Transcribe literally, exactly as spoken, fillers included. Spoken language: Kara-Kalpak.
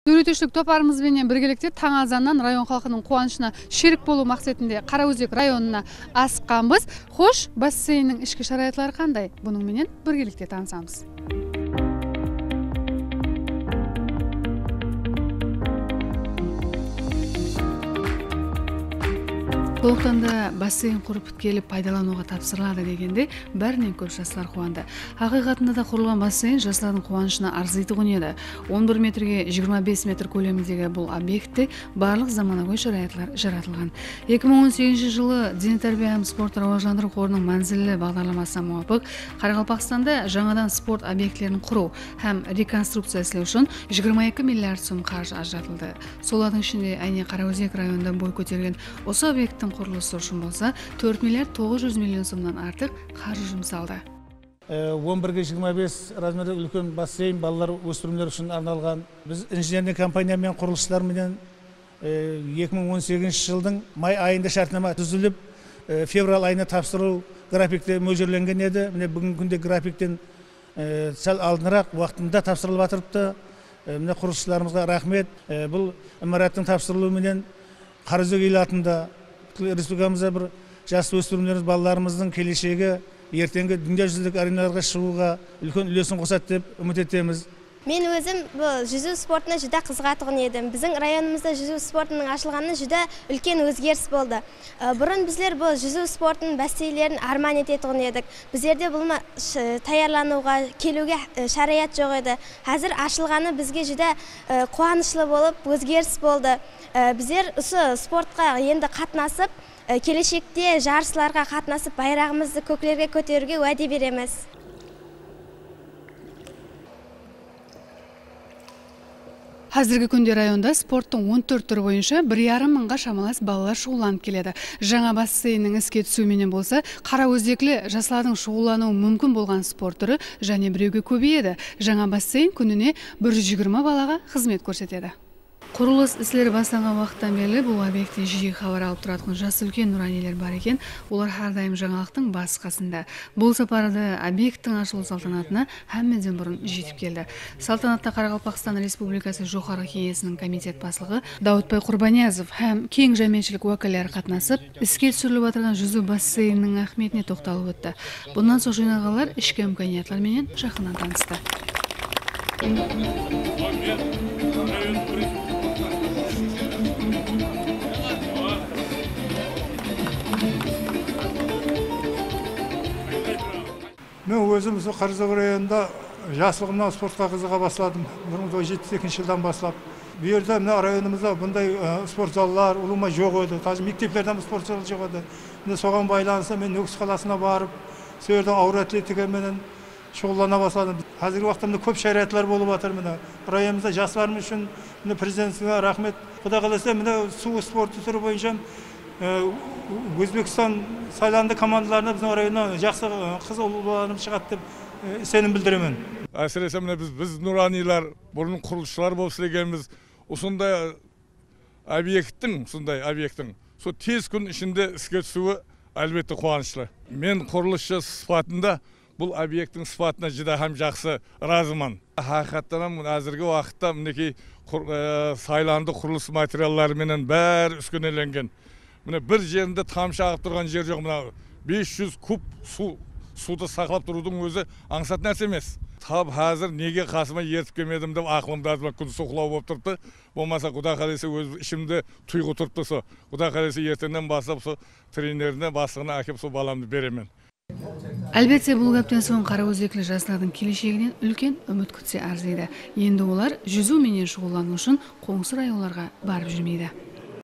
Dóretiwshilik toparımız benen birgelikte tań azannan rayon xalqınıń quwanıshına sherik bolıw maqsetinde Qaraózek rayonına asıqqanbız. Xosh, basseynniń ishki sharayatları qanday? Bunıń menen birgelikte tanısamız. Solıqtan da basseyn qurıp pitkelip paydalanıwǵa tapsırıladı degende, bárinen kóp jaslar quwandı. Haqıyqatında da qurılǵan basseyn jaslardıń quwanıshına arzıytuǵın edi. On bir metrge jigirma bes metr kólemindegi bul obyektte barlıq zamanagóy sharayatlar jaratılǵan. Eki mıń on segizinshi jılı Dene tárbiya hám sporttı rawajlandırıw qorınıń mánzilli baǵdarlamasına muwapıq, Qaraqalpaqstanda jańadan sport obyektlerin qurıw hám rekonstrukciya islew ushın jigirma eki milliard sum qarjı ajıratıldı. Solardıń ishinde, áyne, Qaraózek rayonında boy kótergen usı obyekttiń qurılısı ushın bolsa tórt milliard toǵız júz million sumnan artıq qarjı jumsaldı. E, on birge jigirma bes razmerde úlken basseyn balalar, óspirimler ushın arnalǵan. Biz injenerniy kompaniya menen, qurılısshılar menen, e, eki mıń on segizinshi jıldıń may ayında shártnama dúzilip, e, fevral ayına tapsırıw grafikte mójirlengen edi. Mine, búgingi kúnde grafikten, e, sál aldınıraq waqtında tapsırılıp atırıptı. E, mine, qurılısshılarımızǵa raxmet. E, bul imarattıń tapsırılıwı menen Qaraózek elatında, pútkil respublikamızda bir jas óspirimlerimiz, balalarımızdıń keleshegi, erteńgi dúnya júzilik arenalarǵa shıǵıwǵa úlken úlesin qosadı dep úmit etemiz. Men ózim bul júziw sportına júdá qızıǵatuǵın edim. Biziń rayonımızda júziw sportınıń ashılǵanına júdá úlken ózgeris boldı. I, burın bizler bul júziw sportınıń basseynlerin árman etetuǵın edik. Bizlerde bul ma-, sh-, tayarlanıwǵa, keliwge, ı, sharayat joq edi. Házir ashılǵanı bizge júdá, ı, quwanıshlı bolıp, ózgeris boldı. I, bizler usı sportqa endi qatnasıp, ı, keleshekte jarıslarǵa qatnasıp, bayraǵımızdı kóklerge kóteriwge wáde beremiz. Házirgi kúnde rayonda sporttıń on tórt túri boyınsha bir yarım mıńǵa shamalas balalar shuǵıllanıp keledi. Jańa basseynniń iske túsiwi menen bolsa, qaraózekli jaslardıń shuǵıllanıwı múmkin bolǵan sport túri jáne birewge kóbeyedi. Jańa basseyn kúnine bir júz jigirma balaǵa xızmet kórsetedi. Qurılıs isleri baslanǵan waqıttan berli bul obyektten jiyi xabar alıp turatuǵın jas úlken nuraniyler bar eken. Olar hár dayım jańalıqtıń bası-qasında. Bul saparı da obyekttiń ashılıw saltanatına hámmeden burın jetip keldi. Saltanatta Qaraqalpaqstan Respublikası Joqarǵı Keńesiniń komitet baslıǵı Dawıtbay Qurbaniyazov hám keń jámiyetshilik wákilleri qatnasıp, iske túsirilip atırǵan júziw basseyniniń áhmiyetine toqtalıp ótti. Bunnan soń jıynalǵanlar ishki imkaniyatlar menen jaqınnan tanıstı. Men ózim usı Qaraózek rayonında jaslıǵımnan sportqa qızıǵa basladım. Bir mıń toǵız júz jetpis ekinshi jıldan baslap. Bu jerde, mine, rayonımızda bunday, e, sport zallar ulıwma joq edi. Даже mekteplerden sport zalı joq edi. Mine, soǵan baylanıslı men Nókis qalasına barıp, sol jerden awır atletika menen shuǵıllana basladım. Házirgi waqıtta mine kóp sharayatlar bolıp atır, mine. Rayonımızda jaslarımız ushın, mine, Prezidentimize raxmet. Quday qálese, mine, suw sportı túri boyınsha, e, Ózbekstan saylandı komandalarına biziń rayonnan jaqsı, e, qız ul-, balalarımız shıǵadı dep, e, isenim bildiremen. Ásirese, mine, biz, biz nuraniylar, burın qurılısshılar bolıp islegenbiz. Usınday obyekttiń, usınday obyekttiń sol tez kún ishinde iske túsiwi, álbette, quwanıshlı. Men qurılısshı sıpatında bul obyekttiń sıpatına júdá hám jaqsı ırazıman. Haqıyqattan hám, házirgi waqıtta, minekey, qur-, e, saylandı qurılıs materialları menen bári úskenelengen. Mine, bir jerinde tamshı aǵıp turǵan jer joq. Mına, bes júz kub suw, suwdı saqlap turıwdıń ózi ańsat nárse emes. Tap házir nege qasıma ertip kelmedim dep aqılımda mına kúndіз uqlaw bolıp turıptı. Bolmasa, Quda qálese, óz ishimde tuyǵı turıptı, so. Quda qálese, erteńnen baslap so trenerine, baslıǵına ákep, so balamdı beremen. Álbette, bul gápten soń qaraózekli jaslardıń kelesheginen úlken úmit kútse arzıydı. Endi olar júziw menen shuǵıllanıw ushın qońsı rayonlarǵa barıp júrmeydi.